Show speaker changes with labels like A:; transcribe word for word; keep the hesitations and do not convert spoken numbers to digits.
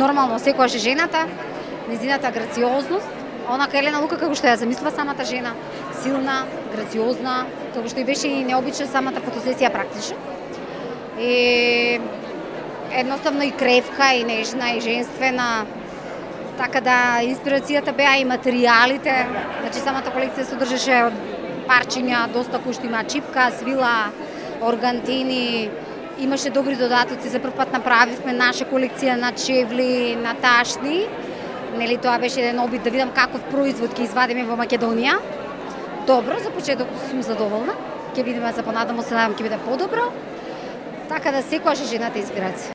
A: нормално секогаш е жената, незината грациозност, онака Елена Лука како што ја замислува самата жена, силна, грациозна, како што и беше и необична самата фотосесија практично. И едноставно и кревка, и нежна, и женствена. Така да инспирацијата беа и материјалите, значи самата колекција содржеше парчиња, доста кои што има чипка, свила, органтини, имаше добри додатоци, за прв пат направивме наша колекција на чевли, на ташни. Нели тоа беше еден обид да видам каков производ ќе извадиме во Македонија. Добро, за почеток сум задоволна. Ќе видиме за понатаму, се надам ќе биде подобро. Така да секогаш е жената инспирација.